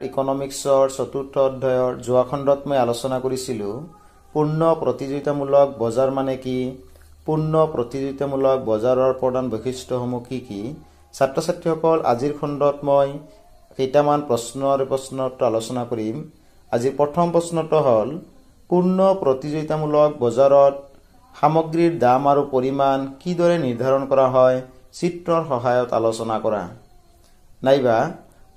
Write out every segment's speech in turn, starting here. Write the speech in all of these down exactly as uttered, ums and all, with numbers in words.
ইকনমিক্সৰ চতুৰ্থ অধ্যায়ৰ যোৱা খণ্ডত মই আলোচনা কৰিছিলোঁ পূৰ্ণ প্ৰতিযোগিতামূলক বজাৰ মানে কি, পূৰ্ণ প্ৰতিযোগিতামূলক বজাৰৰ প্ৰধান বৈশিষ্ট্যসমূহ কি কি। ছাত্ৰ ছাত্ৰীসকল, আজিৰ খণ্ডত মই কেইটামান প্ৰশ্ন আৰু প্ৰশ্নোত্তৰ আলোচনা কৰিম। আজিৰ প্ৰথম প্ৰশ্নটো হ'ল, পূৰ্ণ প্ৰতিযোগিতামূলক বজাৰত সামগ্ৰীৰ দাম আৰু পৰিমাণ কিদৰে নিৰ্ধাৰণ কৰা হয় চিত্ৰৰ সহায়ত আলোচনা কৰা। নাইবা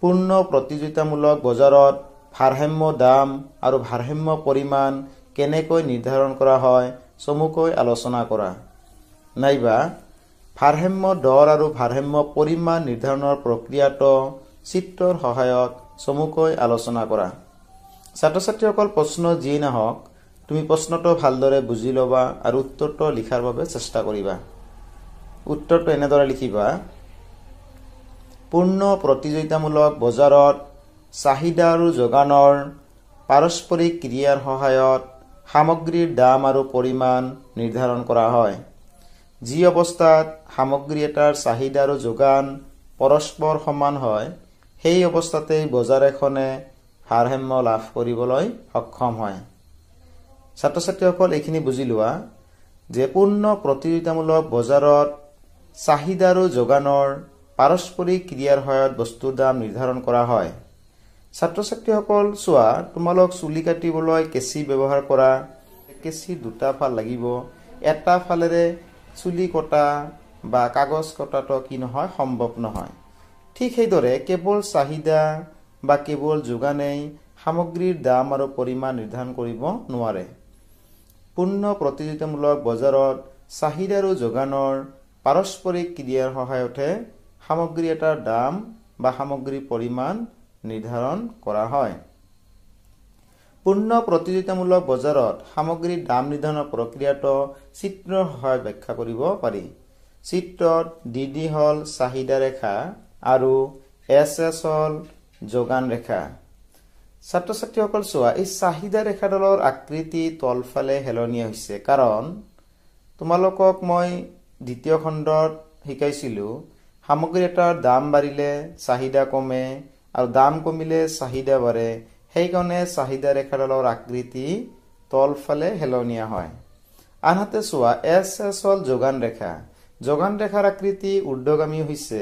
পূৰ্ণ প্ৰতিযোগিতামূলক বজাৰত ভাৰসাম্য দাম আৰু ভাৰসাম্য পৰিমাণ কেনেকৈ নিৰ্ধাৰণ কৰা হয় চমুকৈ আলোচনা কৰা। নাইবা ভাৰসাম্য দৰ আৰু ভাৰসাম্য পৰিমাণ নিৰ্ধাৰণৰ প্ৰক্ৰিয়াটো চিত্ৰৰ সহায়ত চমুকৈ আলোচনা কৰা। ছাত্ৰ ছাত্ৰীসকল, প্ৰশ্ন যিয়েই নাহক তুমি প্ৰশ্নটো ভালদৰে বুজি ল'বা আৰু উত্তৰটো লিখাৰ বাবে চেষ্টা কৰিবা। উত্তৰটো এনেদৰে লিখিবা, পূৰ্ণ প্ৰতিযোগিতামূলক বজাৰত চাহিদা আৰু যোগানৰ পাৰস্পৰিক ক্ৰিয়াৰ সহায়ত সামগ্ৰীৰ দাম আৰু পৰিমাণ নিৰ্ধাৰণ কৰা হয়। যি অৱস্থাত সামগ্ৰী এটাৰ চাহিদা আৰু যোগান পৰস্পৰ সমান হয়, সেই অৱস্থাতেই বজাৰ এখনে ভাৰসাম্য লাভ কৰিবলৈ সক্ষম হয়। ছাত্ৰ ছাত্ৰীসকল, এইখিনি বুজি লোৱা যে পূৰ্ণ প্ৰতিযোগিতামূলক বজাৰত চাহিদা আৰু যোগানৰ পাৰস্পৰিক ক্ৰিয়াৰ সহায়ত বস্তুৰ দাম নিৰ্ধাৰণ কৰা হয়। ছাত্ৰ ছাত্ৰীসকল চোৱা, তোমালোক চুলি কাটিবলৈ কেঁচি ব্যৱহাৰ কৰা, কেঁচিৰ দুটা ফাল লাগিব। এটা ফালেৰে চুলি কটা বা কাগজ কটাটো কি নহয়, সম্ভৱ নহয়। ঠিক সেইদৰে কেৱল চাহিদা বা কেৱল যোগানেই সামগ্ৰীৰ দাম আৰু পৰিমাণ নিৰ্ধাৰণ কৰিব নোৱাৰে। পূৰ্ণ প্ৰতিযোগিতামূলক বজাৰত চাহিদা আৰু যোগানৰ পাৰস্পৰিক ক্ৰিয়াৰ সহায়তহে সামগ্ৰী এটাৰ দাম বা সামগ্ৰীৰ পৰিমাণ নিৰ্ধাৰণ কৰা হয়। পূৰ্ণ প্ৰতিযোগিতামূলক বজাৰত সামগ্ৰীৰ দাম নিৰ্ধাৰণৰ প্ৰক্ৰিয়াটো চিত্ৰৰ সহায়ত ব্যাখ্যা কৰিব পাৰি। চিত্ৰত ডি ডি হ'ল চাহিদা ৰেখা আৰু এছ এছ হ'ল যোগান ৰেখা। ছাত্ৰ ছাত্ৰীসকল চোৱা, এই চাহিদা ৰেখাডালৰ আকৃতি তলফালে হেলনীয়া হৈছে, কাৰণ তোমালোকক মই দ্বিতীয় খণ্ডত শিকাইছিলোঁ সামগ্ৰী এটাৰ দাম বাঢ়িলে চাহিদা কমে আৰু দাম কমিলে চাহিদা বাঢ়ে। সেইকাৰণে চাহিদা ৰেখাডালৰ আকৃতি তলফালে হেলনীয়া হয়। আনহাতে চোৱা, এছ এছ হ'ল যোগান ৰেখা। যোগান ৰেখাৰ আকৃতি ঊৰ্ধ্বগামী হৈছে।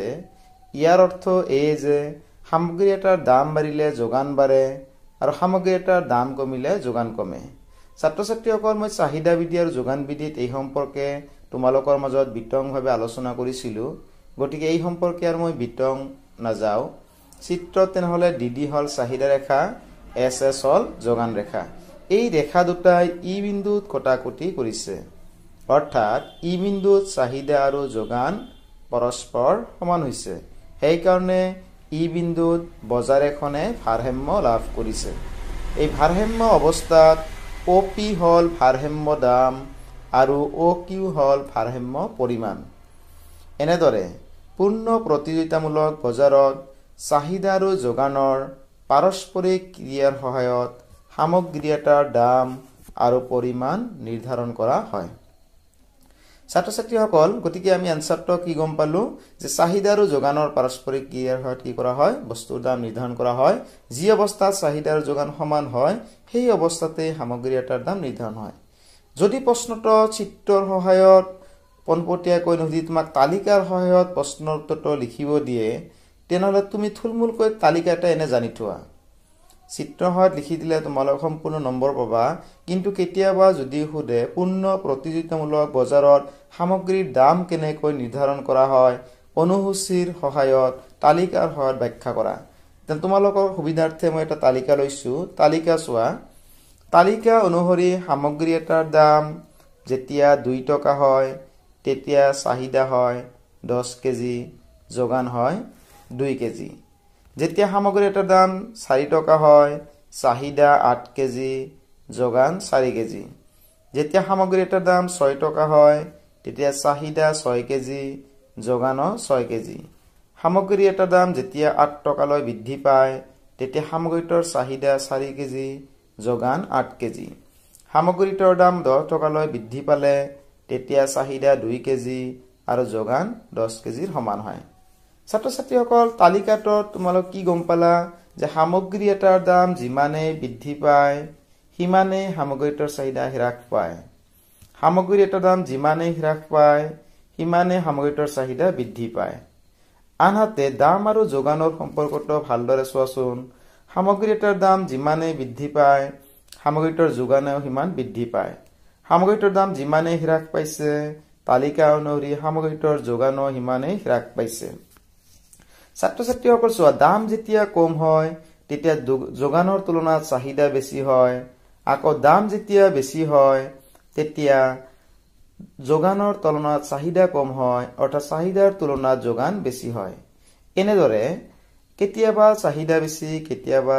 ইয়াৰ অৰ্থ এই যে সামগ্ৰী এটাৰ দাম বাঢ়িলে যোগান বাঢ়ে আৰু সামগ্ৰী এটাৰ দাম কমিলে যোগান কমে। ছাত্ৰ ছাত্ৰীসকল, মই চাহিদা বিধি আৰু যোগান বিধিত এই সম্পৰ্কে তোমালোকৰ মাজত বিতংভাৱে আলোচনা কৰিছিলোঁ, গতিকে এই সম্পৰ্কে আৰু মই বিতং নাযাওঁ। চিত্ৰত তেনেহ'লে ডি ডি হ'ল চাহিদা ৰেখা, এছ এছ হ'ল যোগান ৰেখা। এই ৰেখা দুটাই ই বিন্দুত কটাকটি কৰিছে, অৰ্থাৎ ই বিন্দুত চাহিদা আৰু যোগান পৰস্পৰ সমান হৈছে। সেইকাৰণে ই বিন্দুত বজাৰ এখনে ভাৰসাম্য লাভ কৰিছে। এই ভাৰসাম্য অৱস্থাত অ' পি হ'ল ভাৰসাম্য দাম আৰু অ' কিউ হ'ল ভাৰসাম্য পৰিমাণ। এনেদৰে পূৰ্ণ প্ৰতিযোগিতামূলক বজাৰত চাহিদা আৰু যোগানৰ পাৰস্পৰিক ক্ৰিয়াৰ সহায়ত সামগ্ৰী এটাৰ দাম আৰু পৰিমাণ নিৰ্ধাৰণ কৰা হয়। ছাত্ৰ ছাত্ৰীসকল, গতিকে আমি এনচাৰটো কি গম পালোঁ যে চাহিদা আৰু যোগানৰ পাৰস্পৰিক ক্ৰিয়াৰ সহায়ত কি কৰা হয়, বস্তুৰ দাম নিৰ্ধাৰণ কৰা হয়। যি অৱস্থাত চাহিদা আৰু যোগান সমান হয়, সেই অৱস্থাতেই সামগ্ৰী এটাৰ দাম নিৰ্ধাৰণ হয়। যদি প্ৰশ্নটো চিত্ৰৰ সহায়ত পোনপটীয়াকৈ নুসুধি তোমাক তালিকাৰ সহায়ত প্ৰশ্নৰ উত্তৰটো লিখিব দিয়ে, তেনেহ'লে তুমি থুলমূলকৈ তালিকা এটা এনে জানি থোৱা। চিত্ৰৰ সহায়ত লিখি দিলে তোমালোক সম্পূৰ্ণ নম্বৰ পাবা। কিন্তু কেতিয়াবা যদি সোধে পূৰ্ণ প্ৰতিযোগিতামূলক বজাৰত সামগ্ৰীৰ দাম কেনেকৈ নিৰ্ধাৰণ কৰা হয়, অনুসূচীৰ সহায়ত তালিকাৰ সহায়ত ব্যাখ্যা কৰা, তেনে তোমালোকৰ সুবিধাৰ্থে মই এটা তালিকা লৈছোঁ। তালিকা চোৱা, তালিকা অনুসৰি সামগ্ৰী এটাৰ দাম যেতিয়া দুই টকা হয়, তেতিয়া চাহিদা হয় দহ কেজি, যোগান হয় দুই কেজি। যেতিয়া সামগ্ৰী এটাৰ দাম চাৰি টকা হয়, চাহিদা আঠ কেজি, যোগান চাৰি কেজি। যেতিয়া সামগ্ৰী এটাৰ দাম ছয় টকা হয়, তেতিয়া চাহিদা ছয় কেজি, যোগানো ছয় কেজি। সামগ্ৰী এটাৰ দাম যেতিয়া আঠ টকালৈ বৃদ্ধি পায়, তেতিয়া সামগ্ৰীটোৰ চাহিদা চাৰি কেজি, যোগান আঠ কেজি। সামগ্ৰীটোৰ দাম দহ টকালৈ বৃদ্ধি পালে তেতিয়া চাহিদা দুই কেজি আৰু যোগান দহ কেজিৰ সমান হয়। ছাত্ৰ ছাত্ৰীসকল, তালিকাটোত তোমালোক কি গম পালা যে সামগ্ৰী এটাৰ দাম যিমানেই বৃদ্ধি পায় সিমানেই সামগ্ৰীটোৰ চাহিদা হ্ৰাস পায়। সামগ্ৰী এটাৰ দাম যিমানেই হ্ৰাস পায় সিমানেই সামগ্ৰীটোৰ চাহিদা বৃদ্ধি পায়। আনহাতে দাম আৰু যোগানৰ সম্পৰ্কটো ভালদৰে চোৱাচোন। সামগ্ৰী এটাৰ দাম যিমানেই বৃদ্ধি পায় সামগ্ৰীটোৰ যোগানেও সিমান বৃদ্ধি পায়। সামগ্ৰীটোৰ দাম যিমানেই হ্ৰাস পাইছে তালিকা অনুসৰি সামগ্ৰীটোৰ যোগানো সিমানেই হ্ৰাস পাইছে। ছাত্ৰ ছাত্ৰীসকল চোৱা, দাম যেতিয়া কম হয় তেতিয়া যোগানৰ তুলনাত চাহিদা বেছি হয়। আকৌ দাম যেতিয়া বেছি হয় তেতিয়া যোগানৰ তুলনাত চাহিদা কম হয়, অৰ্থাৎ চাহিদাৰ তুলনাত যোগান বেছি হয়। এনেদৰে কেতিয়াবা চাহিদা বেছি, কেতিয়াবা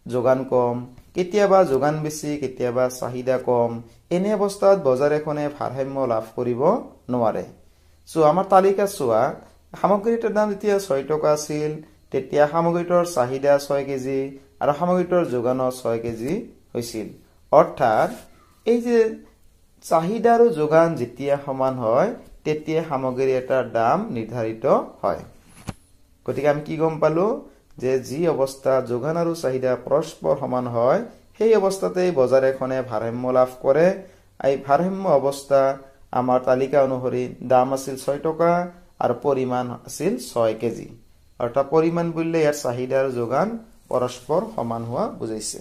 যোগান কম, কেতিয়াবা যোগান বেছি, কেতিয়াবা চাহিদা কম। এনে অৱস্থাত বজাৰ এখনে ভাৰসাম্য লাভ কৰিব নোৱাৰে। চ' আমাৰ তালিকা চোৱা, সামগ্ৰীটোৰ দাম যেতিয়া ছয় টকা আছিল তেতিয়া সামগ্ৰীটোৰ চাহিদা ছয় কেজি আৰু সামগ্ৰীটোৰ যোগানো ছয় কেজি হৈছিল। অৰ্থাৎ এই যে চাহিদা আৰু যোগান যেতিয়া সমান হয় তেতিয়া সামগ্ৰী এটাৰ দাম নিৰ্ধাৰিত হয়। গতিকে আমি কি গম পালো যে যি অৱস্থা যোগান আৰু চাহিদা পৰস্পৰ সমান হয় সেই অৱস্থাতেই বজাৰ এখনে ভাৰসাম্য লাভ কৰে। এই ভাৰসাম্য অৱস্থা আমাৰ তালিকা অনুসৰি দাম আছিল ছয় টকা আৰু পৰিমাণ আছিল ছয় কেজি। অৰ্থাৎ পৰিমাণ বুলিলে ইয়াৰ চাহিদা আৰু যোগান পৰস্পৰ সমান হোৱা বুজাইছে।